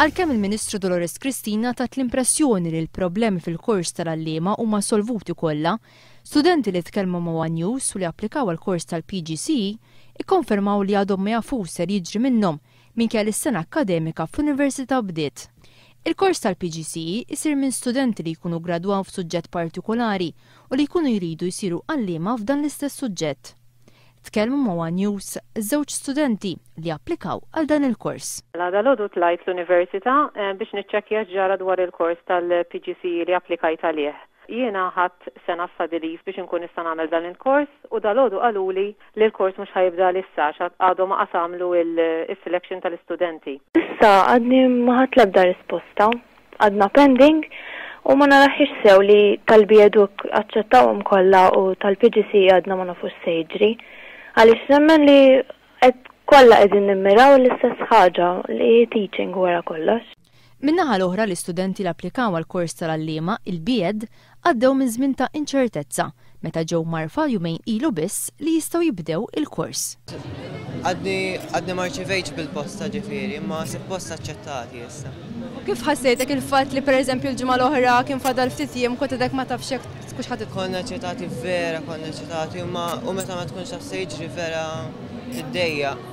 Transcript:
Għalkemm il-Ministru Dolores Cristina tat l-impressjoni li l-problemi fil-kors tal-għalliema huma solvuti kollha, studenti li tkellmu ma' One News u li applikaw għall-kors tal-PGCE ikkonfermaw li għadhom ma jafux ser jiġri minnhom minkejja li s-sena akkademika fl-Università bdiet. Il-kors tal-PGCE isir minn studenti li jkunu gradwaw f'suġġett partikolari u li jkunu jridu jsiru għalliema f'dan l-istess suġġett. Tkellmu ma' One News żewġ studenti li applikaw għal dan il-kors. Dalgħodu tlajt l-università biex niċċekkja x'ġara dwar il-kors tal-PGCE li applikajt għalih. Jiena ħadt sena study leave biex inkun nista' nagħmel dan il-kors u dalgħodu qaluli li l-kors mhux ħa jibda issa għax għadhom ma għamlu il-selection tal-istudenti. Issa għadni ma ħadt l-ebda risposta, għadna pending u ma naraħiex sew li tal-B.Educ aċċettawhom kollha u tal-PGCE għadna ma nafux se jiġri. Għaliex nemmen li qed kollha qegħdin nimmiraw l-istess ħaġa li teaching wara kollox. Min-naħa l-oħra, l-istudenti li applikaw għal kors tal-għalliema, il-B.Ed, għaddew minn żmien ta' inċertezza meta ġew mgħarrfa jumejn ilu biss li jistgħu jibdew il-kors. Għadni ma rċevejtx bil-posta ġifieri, imma suppost aċċettati issa. U kif ħassejtek il-fatt li, pereżempju, l-ġimgħa l-oħra kien fadal ftit jiem, kont għadek ma tafx jekk tkunx ħadd? Konna eċitati vera, konna eċitati, u meta ma tkunx taf se jiġri vera tiddejjaq.